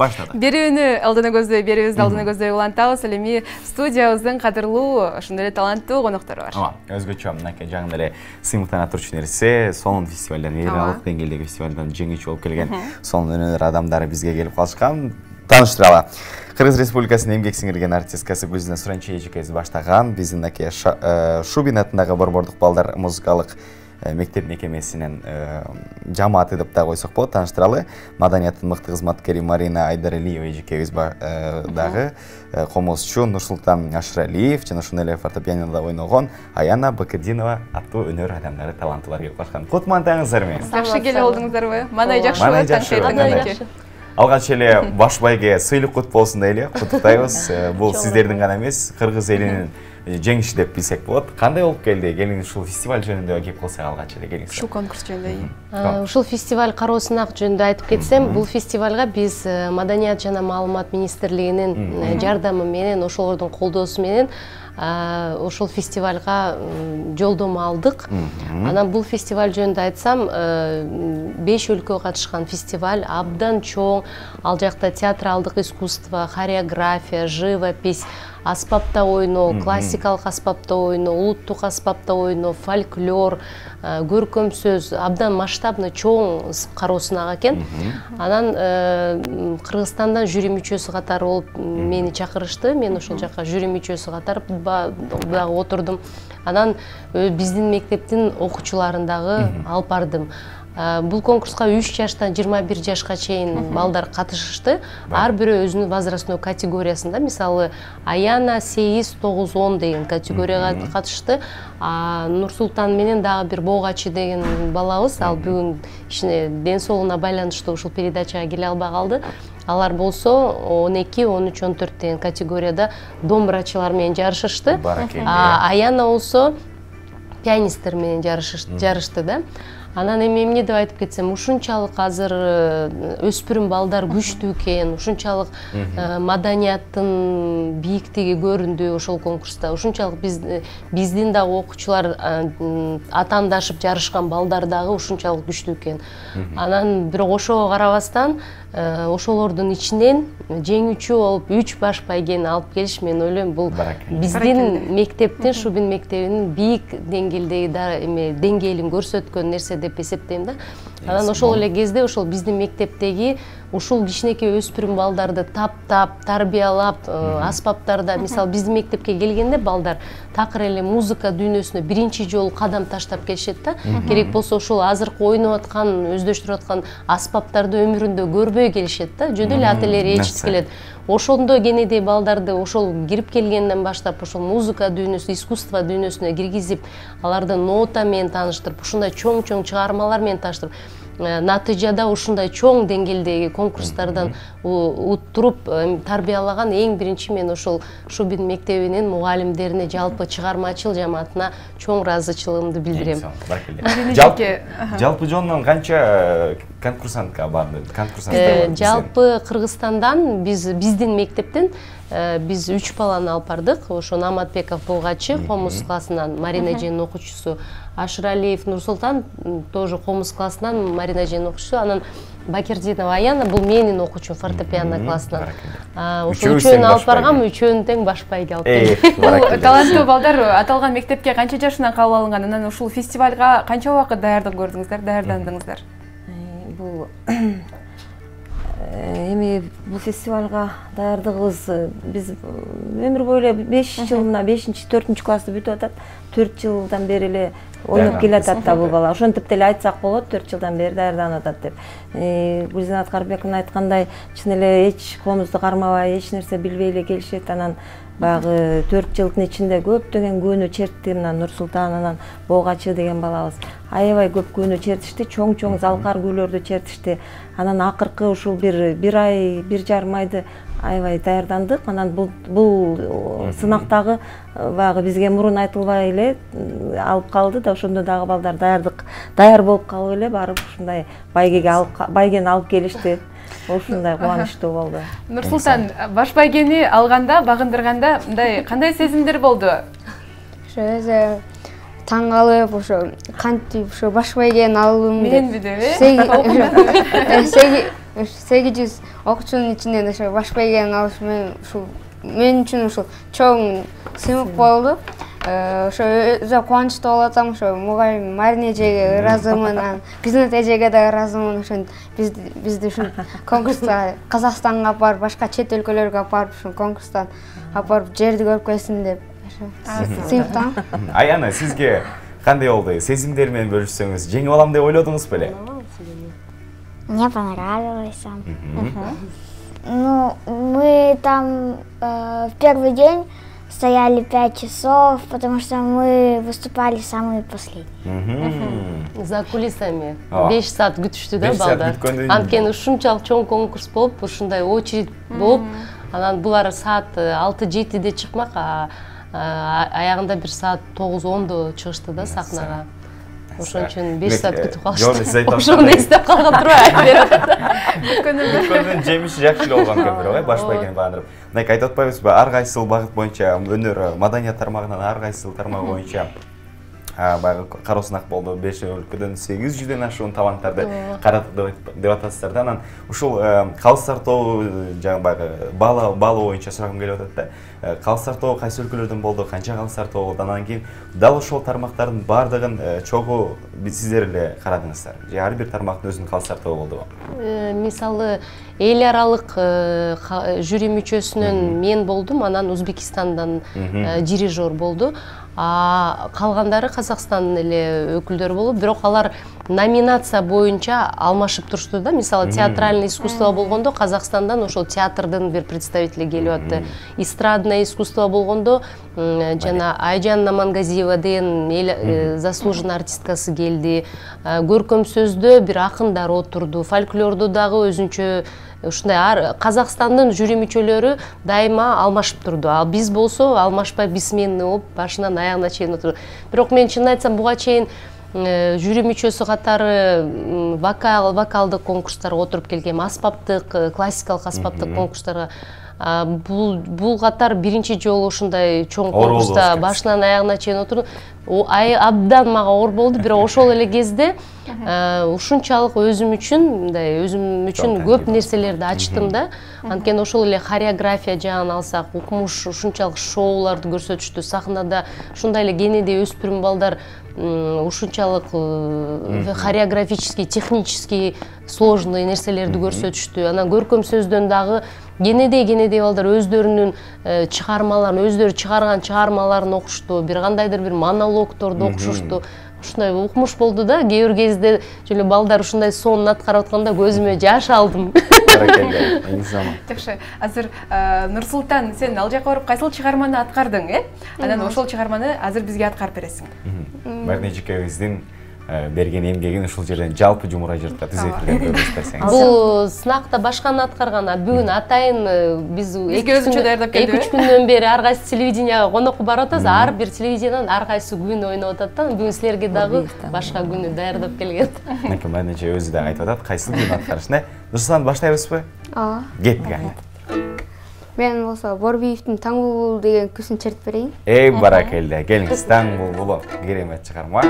Баштадык. Берүүнү алдына көздөй улантабыз. Ал эми студиябыздын кадырлуу, ошондой эле таланттуу коноктору бар. Өзгөчө мынакей жаңы эле сыймыктана турчу нерсе, сонун фестивалдан, эл аралык деңгээлдеги фестивалдан жеңүүчү болуп келген сонун өнөр адамдары бизге келип калышкан. Таныштыралы. Кыргыз Республикасынын эмгек сиңирген артисткасы Гүлзина Суранчи эжекебиз баштаган биздин мынакей Шубин атындагы Борбордук балдар музыкалык мектеп мекемесинин жамааты деп да койсок болот. Таныштыралы. Маданияттын мыкты кызматкери Марина Айдаралиева эжекебиз дагы комузчу Нурсултан Ашыралиев жана ошондой эле фортепианода ойногон Аяна Бакырдинова аттуу өнөр адамдары, таланттуулар келип калышкан. Кутмандаңыздар менен. Жакшы келип алдыңыздарбы? Мандай жакшы таң. Алгач эле баш байге сыйлык кут болсун дейли. Куттуктайбыз. Бул сиздердин гана эмес, кыргыз элинин жеңиши деп билсек болот. Кандай болуп келди? Келиңиз ушул фестиваль жөнүндө кеп кылсак алгач эле келиңиз. Ушул конкурс жөнүндө. Ушул фестиваль кароосунак жөнүндө айтып кетсем, бул фестивалга биз Маданият жана маалымат министрлигинин жардамы менен, ошолордун колдоосу менен ошол фестивалга жолдомо алдык. Анан бул фестиваль жөнүндө айтсам, 5 өлкө катышкан фестиваль, абдан чоң. Ал жакта театралдык искусство, хореография, живопись, аспапта ойноо, классикалык аспапта ойноо, улуттук аспапта ойноо, фольклор, көркөм сөз, абдан масштабный чоң кароосунак экен. Анан Кыргызстандан жюри мүчөсү катары болуп мени чакырышты. Мен ошол жака жюри мүчөсү катары дагы отурдум. Анан биздин мектептин окуучуларын дагы алып бардым. Бул конкурска 3 жаштан 21 жашка чейин балдар катышышты. Ар бирөө өзүнүн возрастной категориясында, мисалы Аяна 8-9-10 деген категорияга катышты. Нурсултан менен дагы бир Богачы деген балабыз, ал бүгүн ишине ден соолугуна байланыштуу ушул передачага келе албай калды. Алар болсо 12, 13, 14 деген категорияда домбурачылар менен жарышышты. Аяна болсо пианисттер менен жарышты да. Анан эми эмне деп айтып кетсем, ушунчалык азыр өспүрүм балдар күчтүү экен, ушунчалык маданияттын бийиктиги көрүндү ошол конкурста. Ушунчалык биздин дагы окуучулар атаандашып жарышкан балдар дагы ушунчалык күчтүү экен. Анан бирок ошого карабастан ошолордун ичинен жеңүүчү болуп 3 баш байгени алып келиш, мен ойлойм, бул биздин мектептин, Шубин мектебинин бийик деңгээлдеги деңгээлин көрсөткөн нерсе деп эсептейм да. Анан ошол эле кезде ошол биздин мектептеги ушул кичинекей өспүрүм балдарды таптап, тарбиялап, аспаптарда, мисалы биздин мектепке келгенде балдар такыр эле музыка дүйнөсүнө биринчи жолу кадам таштап келишет да. Керек болсо ошол азыркы ойноп аткан, өздөштүрүп аткан аспаптарды өмүрүндө көрбөй келишет да. Жөн эле ательерге ээрчитип келет. Ошондо кенедей балдарды ошол кирип келгенден баштап ошол музыка дүйнөсү, искусство дүйнөсүнө киргизип, аларды нота менен тааныштырып, ушундай чоң-чоң чыгармалар менен тааныштырып, натыйжада ушундай чоң деңгээлдеги конкурстардан уттуруп тарбиялаган эң биринчи мен ошол Шубин мектебинин мугалимдерине, жалпы чыгармачыл жамаатына чоң ыраазычылыгымды билдирем. Жалпы жонунан канча конкурсантка барды? Жалпы Кыргызстандан биздин мектептен биз 3 баланы алып бардык. Ошо Наматбеков Богачы комуз классынан, Марина эженин окуучусу, Ашыралиев Нурсултан тоже комуз классынан, Марина эженин окуучусу, анан Бакирдинова Аяна бул менин окуучум фортепиано классынан. Ошо үчөөнү алып баргам, үчөөнү тең баш байге алып келдим. Таланттуу балдар аталган мектепке канча жашынан кабыл алынган? Анан ушул фестивалга канча убакыт даярдык көрдүңүздөр, даярдандыңыздар? Бул эми бул фестивалга даярдыгыбыз биз өмүр бою эле 5 жылына 5-4 классты бүтүп атат. 4 жылдан бери эле ойноп келатат да бул бала. Ошентип деле айтсак болот, 4 жылдан бери даярданып атат деп. Гүлзина Карбековна айткандай, чын эле эч комузду кармабай, эч нерсе билбей эле келишет. Анан баягы 4 жылдын ичинде көптөгөн күнү чертти. Мына Нурсултан, анан Богачы деген балабыз аябай көп күнү чертишти, чоң-чоң залкар күйлөрдү чертишти. Анан акыркы ушул бир ай, 1,5 айды аябай даярдандык. Анан бул сынактагы баягы бизге мурун айтылбай эле алып калды да, ошондо дагы балдар даяр болуп калып эле барып ушундай байгени алып келишти. Ушундай кубанычтуу болду. Нурсултан, баш байгени алганда, багындырганда мындай кандай сезимдер болду? Өзү таң калып, ошо кантип ошо баш байгени алуумду. Менби деп, 800 окуучунун ичинен ошо баш байгени алыш мен үчүн ушул чоң сыймык болду. Ошо өзү кубанычтуу болуп атам. Ошо мугайим Марина эжеге ыраазымын, Гүлнат эжеге да ыраазымын. Ошентип бизди ушул конкурска Казакстанга алып барып, башка чет өлкөлөргө алып барып, ушул конкурстан алып барып жерди көрүп келсин деп сыймыктан. Аяна, сизге кандай болду? Сезимдер менен бөлүшсөңүз, жеңип алам деп ойлодуңуз беле? Мне понравилось. Ну, мы там в первый день стояли 5 часов, потому что мы выступали самые последние. За кулисами 5 саат күтүштү да балдар. Анткени ушунчалык чоң конкурс болуп, ушундай очередь болуп, анан булар саат 6-7де чыкмак, аягында бир саат 9-10до чыгышты да сахнага. Ошон үчүн 5 саат күтүп калышты. Ошону эстеп калган турбайбы? Бүткөндүн жемиши жакшы болгон көбүрөөк, баш байгени баандырып. Мындай айтып атпайбызбы? Ар кайсыл багыт боюнча өнөр, маданият тармагынан ар кайсыл тармак боюнча баягы кароосунак болду. 5 өлкөдөн 800дөн ашуун таланттарды караттык деп атасыздар да. Анан ушул калыстар тобу баягы баалоо боюнча сурагым келип атат да. Калыстар тобу кайсы өлкөлөрдөн болду, канча калыстар тобу болду? Анан кийин дал ошол тармактардын баардыгын чогуу сиздер эле карадыңыздар. Же ар бир тармактын өзүнүн калыстар тобу болдубу? Мисалы эл аралык жюри мүчөсүнөн мен болдум, анан Өзбекистандан дирижер болду. Калгандары Казакстандын эле өкүлдөрү болуп, бирок алар номинация боюнча алмашып турушту да. Мисалы театральный искусство болгондо Казакстандан ошол театрдын бир представители келип атты. Эстрадное искусство болгондо жана Айжан Мангазиева деген заслуженный артисткасы келди. Көркөм сөздө бир акындар отурду. Фольклордо дагы өзүнчө ушундай Казакстандын жюри мүчөлөрү дайыма алмашып турду. Ал биз болсо алмашпай бессменный болуп башынан аягына чейин отурду. Бирок мен чын айтсам буга чейин жюри мүчөсү катары вокалдык конкурстарга отуруп келгем, аспаптык, классикалык аспаптык конкурстарга. Бул катар биринчи жолу ушундай чоң конкурста башынан аягына чейин отурдум. Абдан мага оор болду, бирок ошол эле кезде ушунчалык өзүм үчүн көп нерселерди ачтым да. Анткени ошол эле хореография жагын алсак, укмуш ушунчалык шоуларды көрсөтүштү. Сахнада ушундай эле кенеде өспүрүм балдар ушунчалык хореографический, технический сложный нерселерди көрсөтүштү. Анан көркөм сөздөн дагы кенеде балдар өздөрүнүн чыгармаларын, өздөрү чыгарган чыгармаларын окушту, бир кандайдыр бир монологторду окушушту. Ушундай укмуш болду да. Кээ бир кезде жолу балдар ушундай сонун аткарып атканда көзүмө жаш алдым. Жакшы. Азыр Нурсултан, сен ал жака барып кайсыл чыгарманы аткардың, Анан ошол чыгарманы азыр бизге аткарып бересиң. Марина эжекебиздин берген эмгегин ушул жерден жалпы жумура жыртка түзөтүлгөн көрсөтсөңүз. Бул сынакта башканы аткарган, бүгүн атайын биз өзүнчө даярдап келдик. 2-3 күндөн бери ар кайсы телевиденияга конокко барып атабыз. Ар бир телевидениянан ар кайсы күн ойноп атат да. Бүгүн силерге дагы башка күнү даярдап келген. Марина эже өзү да айтып атат, кайсы күн аткарышны. Нурсултан баштайбызбы? Кеттик аны. Мен болсо Борбиевдин Таң булбул деген күсүн чертип берейин. Баракелде. Келиңиз, Таң булбулу керемет чыгарма.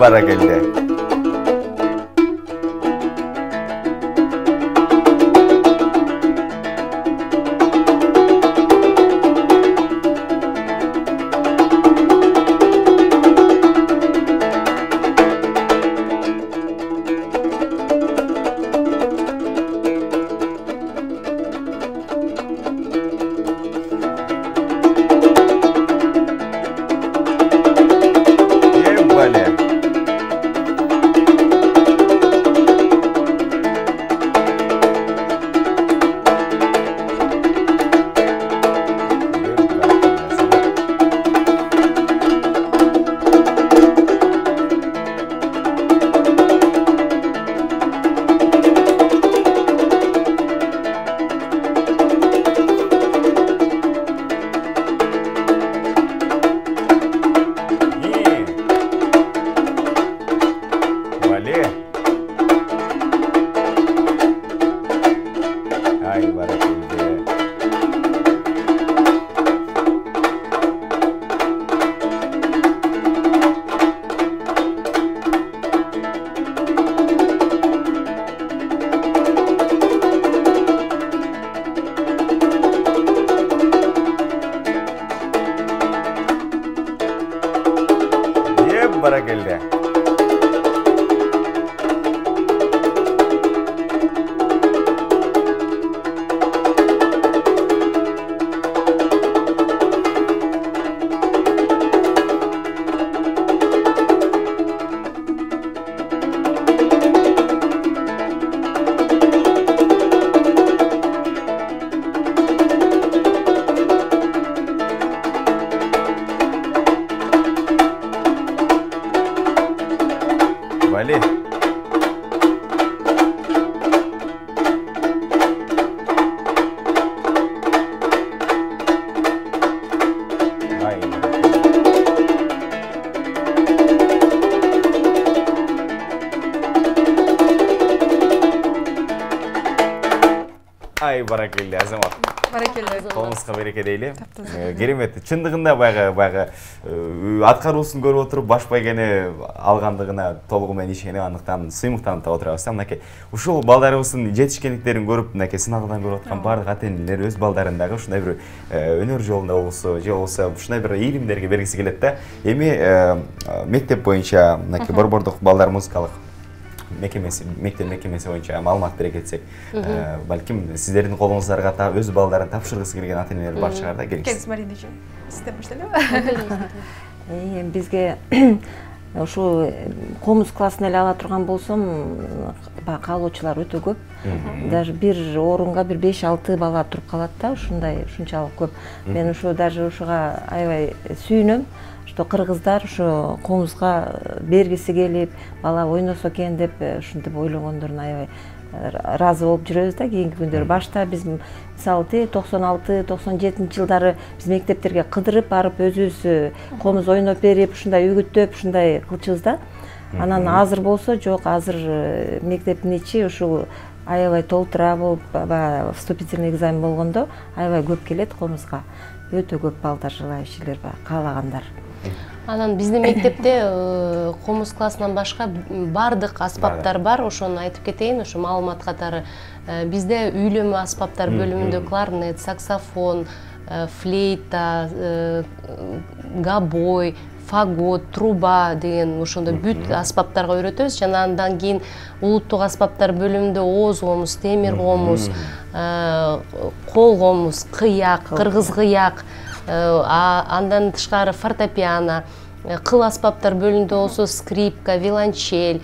Баракелде. баракелде. Вали. Ай, баракелде, Азамат. Баракелде. Колуңузга береке дейли. Керемет. Чындыгында баягы аткаруусун көрүп отуруп баш байгени алгандыгына толугу менен ишенип, андыктан сыймыктанып отурабыз. Мынакей ушул балдарыбыздын жетишкендиктерин көрүп, мынакей сынагынан көрүп аткан бардык ата-энелер өз балдарын дагы ушундай бир өнөр жолунда болсо, же болбосо ушундай бир ийгилимдерге бергиси келет да. Эми мектеп боюнча мынакей Борбордук балдар музыкалык мектеп мекемеси боюнча маалымат бере кетсек, балким сиздердин колуңуздарга өз балдарын тапшыргысы келген ата-энелер бар шығар да, келиңиз. Мариначы, сизден баштайлабы? Бизге ушу комуз классына эле ала турган болсом, каалоочулар өтө көп. Даже бир орунга бир 5-6 бала туруп калат да, ушунчалык көп. Мен ушу даже ушуга аябай сүйүнөм. Что кыргыздар ушу комузга бергиси келип, бала ойносо экен деп ушинтип ойлогондоруна аябай ыраазы болуп жүрөбүз да кийинки күндөрү. Башта биз мисалы 96-97 жылдары биз мектептерге кыдырып барып өзүбүз комуз ойноп берип, ушундай үгүттөп, ушундай кылчубуз да. Анан азыр болсо жок, азыр мектептин ичи ушул аябай толтура болуп, вступительный экзамен болгондо аябай көп келет комузга. Өтө көп балдар, желающийлер бар, каалагандар. Анан биздин мектепте комуз классынан башка бардык аспаптар бар, ошону айтып кетейин, ошо маалымат катары. Бизде үйлөмө аспаптар бөлүмүндө кларнет, саксофон, флейта, габой, фагот, труба деген ошондой бүт аспаптарга үйрөтөбүз. Жана андан кийин улуттук аспаптар бөлүмүндө ооз комуз, темир комуз, кол комуз, кыяк, кыргыз кыяк, андан тышкары фортепиано, кыл аспаптар бөлүмүндө болсо скрипка, виолончель,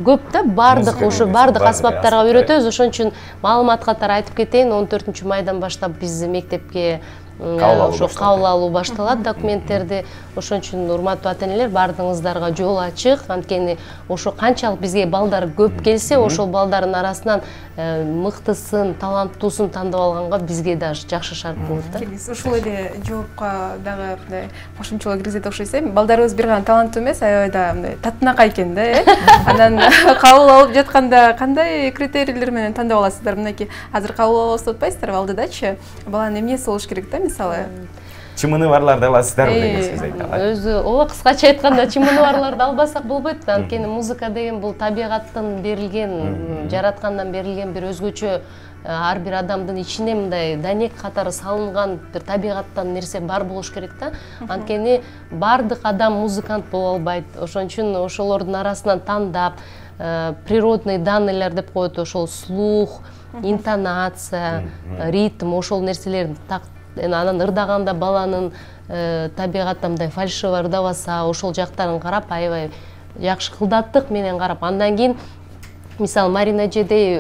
көп да, бардык ошо бардык аспаптарга үйрөтөбүз. Ошон үчүн маалымат катары айтып кетейин, 14-майдан баштап биз мектепке ошо кабыл алуу башталат документтерди. Ошон үчүн урматтуу ата-энелер, бардыгыңыздарга жол ачык. Анткени ошо канчалык бизге балдар көп келсе, ошол балдардын арасынан мыктысын, таланттуусун тандап алганга бизге даже жакшы шарт болот да. Ушул эле жоопко дагы мындай кошумчалоо киргизет окшойт. Балдарыбыз бир гана таланттуу эмес, аябай да мындай татынакай экен да, Анан кабыл алып жатканда кандай критерийлер менен тандап аласыздар? Мынакей азыр кабыл алабыз деп атпайсыздарбы, алдыдачы баланын эмнеси болуш керек да, мисалы? Чымыны барларды аласыздарбы деген сөз айтат. Өзү ооба, кыскача айтканда чымыны барларды албасак болбойт да. Анткени музыка деген бул табигаттан берилген, жараткандан берилген бир өзгөчө, ар бир адамдын ичине мындай данек катары салынган бир табигаттан нерсе бар болуш керек да. Анткени бардык адам музыкант боло албайт. Ошон үчүн ошолордун арасынан тандап, природный данныйлар деп коет, ошол слух, интонация, ритм, ошол нерселерди анан ырдаганда баланын табигаттан мындай фальшиво ырдабаса, ошол жактарын карап, аябай жакшы кылдаттык менен карап, андан кийин мисалы Марина эжедей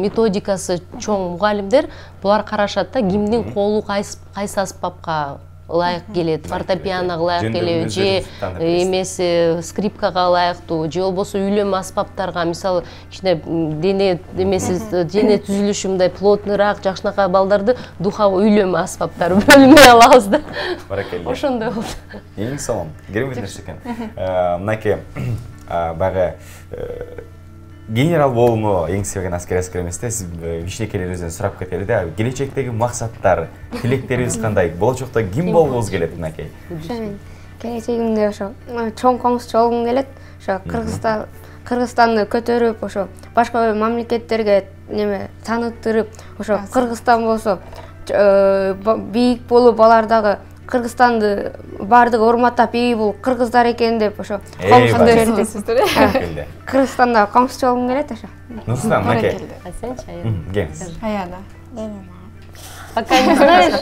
методикасы чоң мугалимдер булар карашат да, кимдин колу кайсы аспапка ылайык келет, фортепианога ылайык келеби, же эмеси скрипкага ылайыктуу, же болбосо үйлөмө аспаптарга, мисалы кичине дене дене түзүлүшү мындай плотныйраак, жакшынакай балдарды духовой үйлөмө аспаптар бөлүмүнө алабыз да. Баракелде. Ошондой болду. Эң сонун, керемет нерсе экен. Мынакей баягы генерал болууну эңсебеген аскер эмес да. Сиз кичинекейлерибизден сурап кетели да. Келечектеги максаттар, тилектерибиз кандай? Болочокто ким болгубуз келет мынакей? Келечегимде ошо чоң комузчу болгум келет. Ошо Кыргызстанды көтөрүп, ошо башка мамлекеттерге таныттырып, ошо Кыргызстан болсо бийик болуп, алар дагы Кыргызстанды баардыгы урматтап, бул кыргыздар экен деп ошо Кыргызстанда коңшучу болгум келет ошо. Нурсултан аке. Сенчи? Келиңиз. Аяна. Пока не знаешь.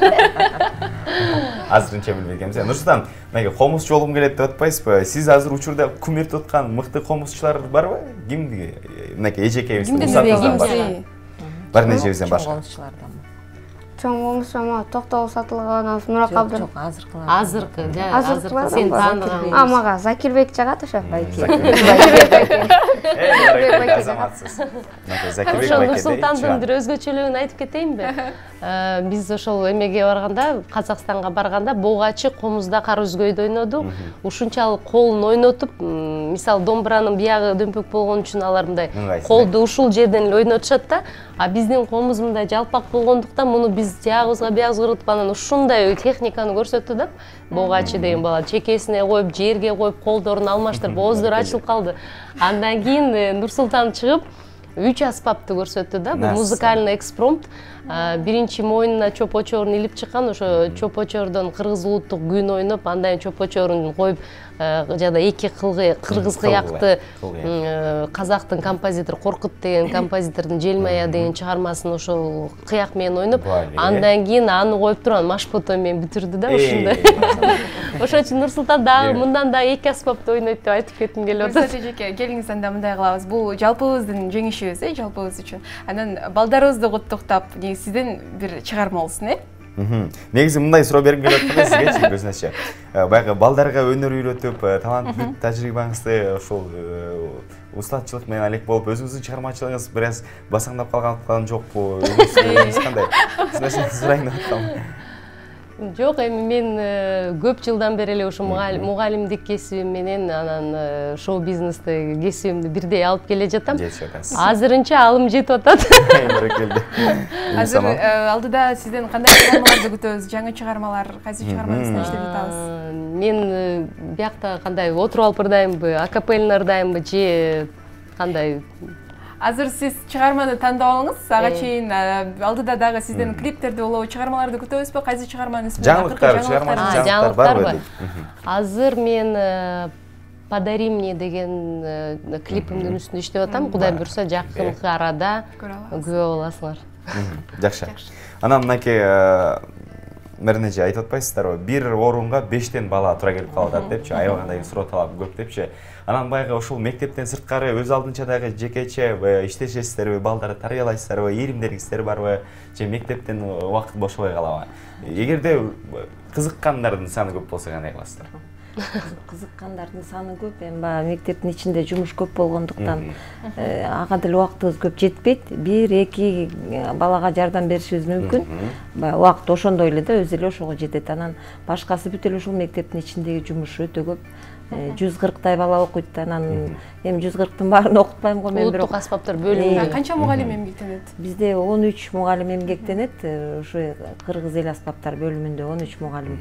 Азырынча билбегенбиз. Нурсултан, мынакей комузчу болгум келет деп атпайсызбы? Сиз азыр учурда кум эртип аткан мыкты комузчулар барбы? Кимди? Мынакей эжекебизден бар нечебизден башка. Чоң комузчу Токтогул Сатылганов, Нурак Абдыр. Азыркы, сен тааныган. Мага Закирбек жагат ошо. Нурсултандын бир өзгөчөлүгүн айтып кетейинби? Биз ошол эмеге барганда, Казакстанга барганда Богачы комузда кар үзгөйдө ойнодук. Ушунчалык колун ойнотуп, мисалы домбуранын биягы дөмпөк болгон үчүн алар мындай колду ушул жерден эле ойнотушат да. А биздин комуз мындай жалпак болгондуктан муну биз жагыбызга биягыбызга кыргытып анан ушундай техниканы көрсөттү да. Богачы деген бала чекесине коюп, жерге коюп, колдорун алмаштырып, ооздору ачылып калды. Андан кийин Нурсултан чыгып 3 аспапты көрсөттү да. Бул музыкальный экспромт. Биринчи моюнуна чоп-очорун илип чыккан, ошо чоп-очордон кыргыз улуттук күйүн ойноп, андан чоп-очорун коюп, жада эки кыргыз кыякты казактын композитор Коркут деген композитордун Желмая деген чыгармасын ошол кыяк менен ойноп, андан кийин аны коюп туруп машпото менен бүтүрдү да ушундай. Ошон үчүн Нурсултан дагы мындан да эки аспапты ойнойт деп айтып кетким келип атат. Келиңиз, анда мындай кылабыз. Бул жалпыбыздын жеңишибиз, жалпыбыз үчүн. Анан балдарыбызды куттуктап, сизден бир чыгарма болсун, Негизи мындай суроо бергим келип атканда сизгечи көзүнөчү. Баягы балдарга өнөр үйрөтүп, талант тажрыйбаңызды ошол устатчылык менен алек болуп, өзүңүздүн чыгармачылыгыңыз бир аз басаңдап калган жокпу? Кандай? Ушуну сурайын деп атам. Жок, эми мен көп жылдан бери эле ушу мугалимдик кесибим менен анан шоу бизнесте кесибимди бирдей алып келе жатам. Азырынча алым жетип атат. Азыр алдыда сизден кандай чыгармаларды күтөбүз? Жаңы чыгармалар, кайсы чыгармаңызды иштеп жатабыз? Мен биякта кандай отуруп алып ырдайбы, акапелла ырдайбы же кандай? Азыр сиз чыгарманы тандап алыңыз, ага чейин алдыда дагы сизден клиптерди болобу, чыгармаларды күтөбүзбү? Кайсы чыгарманын исми? Жаңылыктар барбы? Азыр мен «Подари мне» деген клипимдин үстүндө иштеп атам. Кудай буйруса жакынкы арада көрө аласыңар. Жакшы. Анан мынакей Мернеже айтып атпайсыздарбы? Бир орунга 5тен бала тура келип калып атат депчи, аябагандай суроо талап көп депчи. Анан баягы ушул мектептен сырткары өз алдынча дагы жекече иштешесиздерби, балдарды тарбиялайсыздарбы, ийримдериңиздер барбы, же мектептен убакыт бошобой калабы? Эгерде кызыккандардын саны көп болсо кандай кыласыздар? Кызыккандардын саны көп, эми баягы мектептин ичинде жумуш көп болгондуктан ага деле убактыбыз көп жетпейт. 1-2 балага жардам беришибиз мүмкүн. Баягы убакыт ошондой эле да, өзү эле ошого жетет. Анан башкасы бүт эле ушул мектептин ичиндеги жумуш өтө көп. 140 бала окуйт, анан эми 140-тын баарын окутпайм го мен, бирок улуттук аспаптар бөлүмүндө канча мугалим эмгектенет? Бизде 13 мугалим эмгектенет, ушу кыргыз эл аспаптар бөлүмүндө 13 мугалим.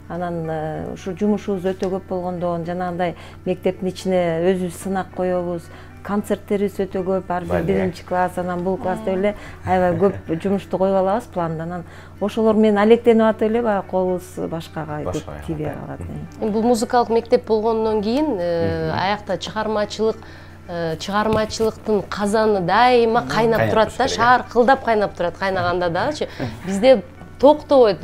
Анан ушу жумушубуз өтө көп болгондон, жанагындай мектептин ичине өзүбүз сынак коебуз, концерттерибиз өтө көп, ар бир биринчи класс, анан бул класс деп эле аябай көп жумушту коюп алабыз планда. Анан ошолор менен алектенип атып эле баягы колубуз башкага тийбей калат. Бул музыкалык мектеп болгондон кийин аякта чыгармачылыктын казаны дайыма кайнап турат да, шаркылдап кайнап турат, кайнаганда дагычы. Бизде токтобойт,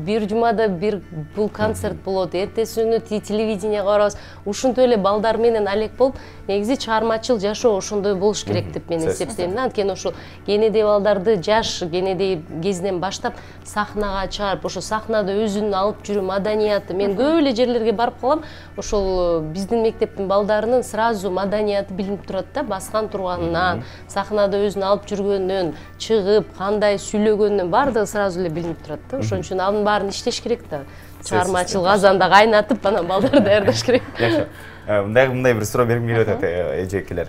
бир жумада бир бул концерт болот, эртеси күнү телевидениеге барабыз. Ушунтип эле балдар менен алек болуп, негизи чыгармачыл жашоо ошондой болуш керек деп мен эсептейм. Анткени ошол кенедей балдарды жаш кенедей кезинен баштап сахнага чыгарып, ошо сахнада өзүнүн алып жүрүү маданияты. Мен көп эле жерлерге барып калам, ошол биздин мектептин балдарынын сразу маданияты билинип турат да, баскан турганынан, сахнада өзүн алып жүргөнүнөн, чыгып, кандай сүйлөгөнүнөн баардыгы сразу эле билинип турат да. Ошон үчүн анын баарын иштеш керек да. Чыгармачыл казанда кайнатып, анан балдарды даярдаш керек. Жакшы. Мындай бир суроо бергим келип атат, эжекелер.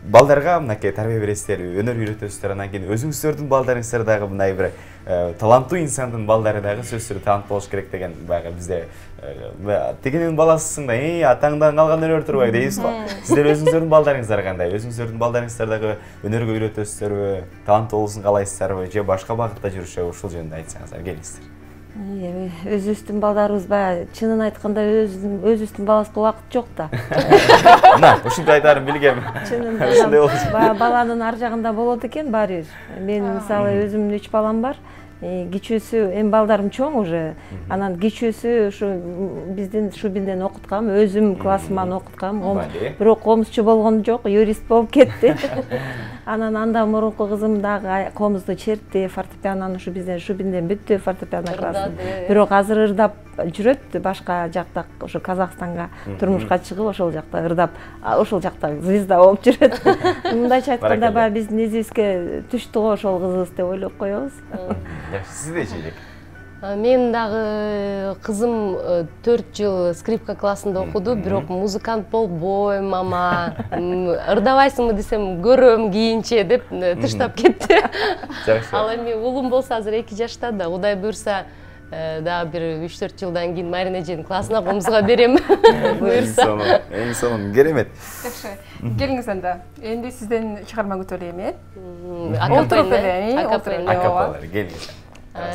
Балдарга мынакей тарбия бересиздер, өнөр үйрөтөсүздөр, анан кийин өзүңүздөрдүн балдарыңыздар дагы мындай бир таланттуу инсандын балдары дагы сөзсүз талант болуш керек деген баягы бизде тигинин баласысың да, атаңдан калган өнөр турбайбы дейбиз го. Сиздер өзүңүздөрдүн балдарыңыздар кандай? Өзүңүздөрдүн балдарыңыздар дагы өнөргө үйрөтөсүздөрбү, таланттуу болуусун каалайсыздарбы, же башка багытта жүрүшөбү? Ушул жөнүндө айтсаңыздар, келиңиздер. Өзүбүздүн балдарыбыз баягы чынын айтканда өзүбүздүн балабызга убакыт жок да. Мына, ушинтип айтаарын билгем. Чынында баягы баланын ар жагында болот экен баары бир. Мен мисалы өзүмдүн 3 балам бар. Кичүүсү, эми балдарым чоң уже. Анан кичүүсү ушу биздин Шубинден окуткам, өзүм классыман окуткам. Бирок комузчу болгон жок, юрист болуп кетти. Анан андан мурунку кызым дагы комузду чертти, фортепианонун ушу бизден Шубинден бүттү фортепиано классын. Бирок азыр ырдап жүрөт, башка жакта, ошо Казакстанга турмушка чыгып, ошол жакта ырдап, ошол жакта звезда болуп жүрөт. Мындайча айтканда баягы биздин изибизге түштү го ошол кызыбыз деп ойлоп коебуз. Сиздечи элек? Мен дагы кызым 4 жыл скрипка классында окуду, бирок музыкант болбойм, ама ырдабайсыңбы десем, көрөм кийинче деп тыштап кетти. Ал эми уулум болсо азыр 2 жашта да, Кудай буйрса дагы бир 3-4 жылдан кийин Марина эженин классына комузга берем. Буйрса. Эң сонун, керемет. Жакшы. Келиңиз анда. Энди сизден чыгарма күтөлү эми. Акапелла, келиңиз.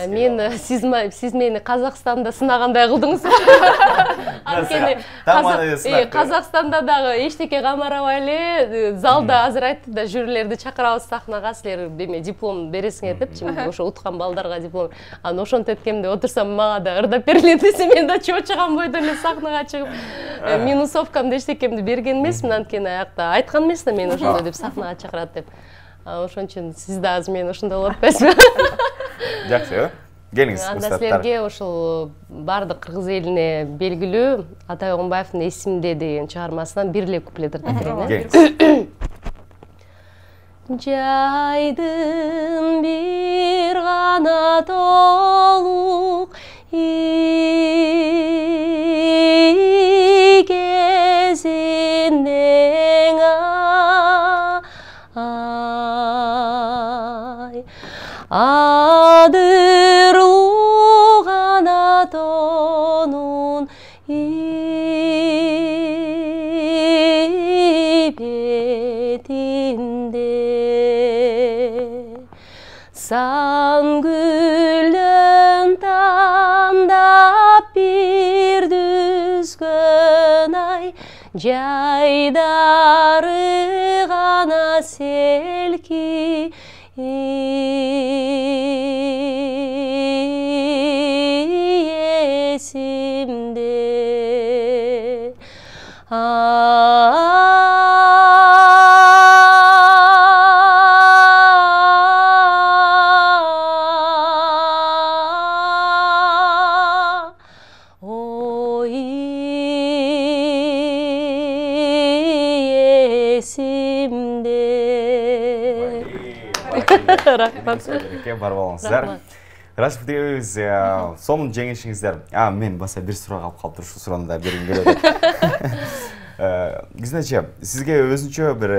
Мен сиз мени Казакстанда сынагандай кылдыңыз. Анткени Казакстанда дагы эчтеке камарабай эле, залда азыр айтты да, жюрилерди чакырабыз сахнага, силер деме диплом бересиңер деп, ошо уткан балдарга диплом. Анан ошентип эткемде отурсам мага да ырдап бергиле десе, мен да чочуган бойдон эле сахнага чыгып, минусовкамды эчтекемди берген эмесмин, анткени аякта айткан эмес да мен ошондой деп сахнага чакырат деп. Ошон үчүн сиз да азыр мен ошондой болуп атпайсызбы? Жакшы, келиңиз. Анда силерге ошол бардык кыргыз элине белгилүү Атай Огунбаевдин «Эсимде» деген чыгармасынан бир эле куплет ырдап берейин. Жайдын бир гана толук кезинен адырлуу канатонун бетинде сан гүлдөн тандап бир түзгөн ай жайдары гана селки эсимде ой эсимде. Рахмат. Бар болуңуздар. Рашид Бутиевиз, сонун жеңишиңиздер. Мен баса бир сурак алып калып турушу суроону да бергим келет. Кизнече, сизге өзүнчө бир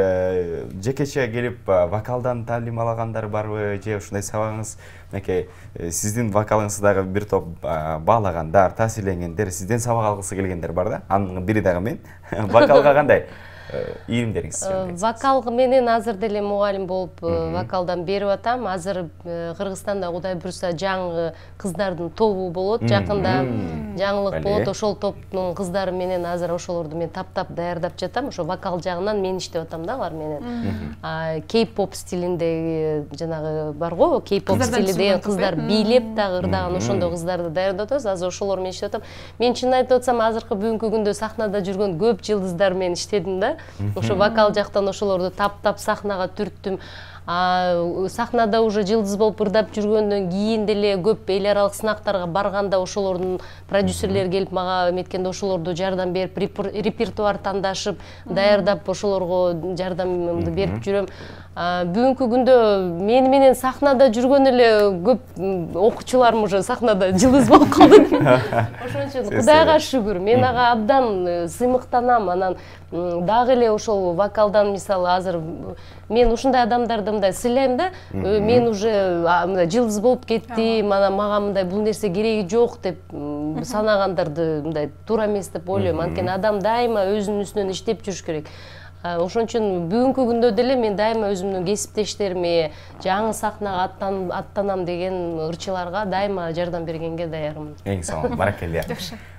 жекече келип вокалдан таалим алагандар барбы, же ушундай сабагыңыз, мынакей сиздин вокалыңызды дагы бир топ баалагандар, таасирленгендер, сизден сабак алгысы келгендер бар да? Анын бири дагы мен. Вокалга кандай ийримдериңиз? Вокалга менен азыр деле мугалим болуп вокалдан берип атам. Азыр Кыргызстанда Кудай буйрса жаңы кыздардын тобу болот, жакында жаңылык болот. Ошол топтун кыздары менен азыр ошолорду мен таптап даярдап жатам. Ошо вокал жагынан мен иштеп атам да алар менен. Кей-поп стилинде жанагы бар го, кей-поп стили деген кыздар бийлеп дагы ырдаган ошондой кыздарды даярдап атабыз. Азыр ошолор менен иштеп атам. Мен чын айтып атсам, азыркы бүгүнкү күндө сахнада жүргөн көп жылдыздар менен иштедим да. Ошо вокал жактан ошолорду таптап сахнага түрттүм. Сахнада уже жылдыз болуп ырдап жүргөндөн кийин деле көп эл аралык сынактарга барганда ошолордун продюсерлери келип мага эметкенде ошолорду жардам берип, репертуар тандашып, даярдап ошолорго жардамымды берип жүрөм. Бүгүнкү күндө мени менен сахнада жүргөн эле көп окуучуларым уже сахнада жылдыз болуп калды. Ошон үчүн Кудайга шүгүр, мен ага абдан сыймыктанам. Анан дагы эле ошол вокалдан мисалы азыр мен ушундай адамдарды мындай сыйлайм да, мен уже жылдыз болуп кеттим, анан мага мындай бул нерсе кереги жок деп санагандарды мындай туура эмес деп ойлойм. Анткени адам дайыма өзүнүн үстүнөн иштеп жүрүш керек. Ошон үчүн бүгүнкү күндө деле мен дайыма өзүмдүн кесиптештериме, жаңы сахнага аттанам деген ырчыларга дайыма жардам бергенге даярмын. Эң сонун, баракелде.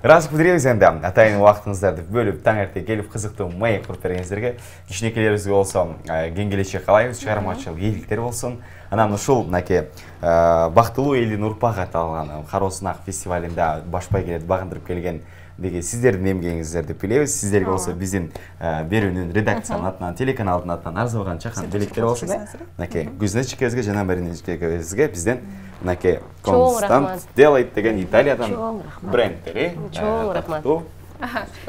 Ыраазычылык билдиребиз энди атайын убактыңыздарды бөлүп таң эрте келип кызыктуу маек куруп бергениңиздерге. Кичинекейлерибизге болсо кең келечек каалайбыз, чыгармачылык ийгиликтер болсун. Анан ушул мынакей бактылуу элдин урпагы аталган Кароосунак фестивалында баш байгелерди багындырып келген деги сиздердин эмгегиңиздер деп билебиз. Сиздерге болсо биздин берүүнүн редакциянын атынан, телеканалдын атынан арзыбаган чакан белектер болсун. Мынакей Гүлназ эжекебизге жана Марина эжекебизге бизден мынакей Констант делайт деген Италиядан брендтери. Чоң рахмат.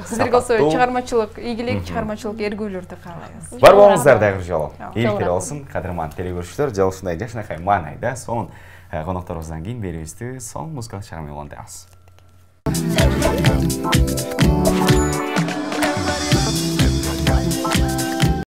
Сиздерге болсо чыгармачылык ийгилик, чыгармачылык эргүүлөрдү каалайбыз. Бар болуңуздар дагы жолу. Ийгиликтер болсун, кадырман телегөрүүчүлөр, жана ушундай жакшынакай маанайда сонун конокторубуздан кийин берүүбүздү сонун музыкалык чыгарма менен улантабыз.